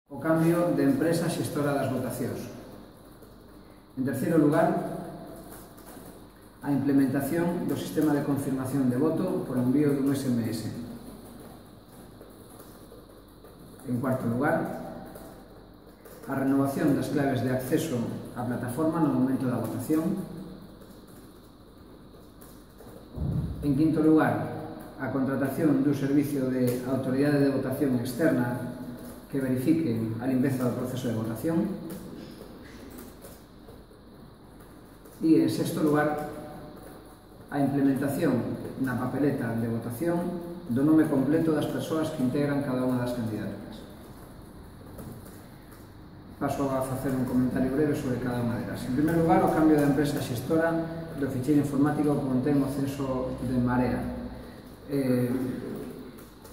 O cambio de empresa xestora das votacións. En terceiro lugar, a implementación do sistema de confirmación de voto por envío dun SMS. En cuarto lugar, a renovación das claves de acceso á plataforma no momento da votación. En quinto lugar, a contratación dun servicio de autoridade de votación externa que verifique a limpeza do proceso de votación. E, en sexto lugar, a implementación na papeleta de votación do nome completo das persoas que integran cada unha das candidaturas. Paso a facer un comentario breve sobre cada unha delas. En primeiro lugar, o cambio da empresa xestora do ficheiro informático que contén o censo de Marea.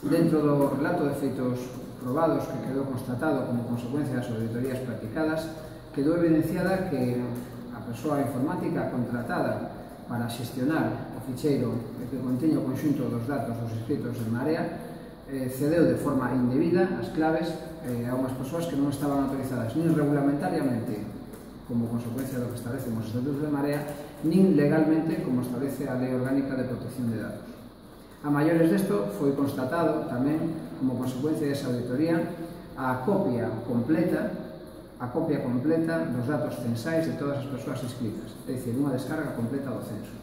Dentro do relato de feitos probados que quedou constatado como consecuencia das auditorías practicadas, quedou evidenciada que a persoa informática contratada para xestionar o ficheiro que contiña o conxunto dos datos dos inscritos en Marea cedeu de forma indebida as claves a unhas persoas que non estaban autorizadas nin regulamentariamente como consecuencia do que establecen os estatutos de Marea, nin legalmente como establece a Lei Orgánica de Protección de Datos. A maiores desto foi constatado tamén como consecuencia desa auditoría a copia completa dos datos censais de todas as persoas inscritas, é dicir, unha descarga completa do censo.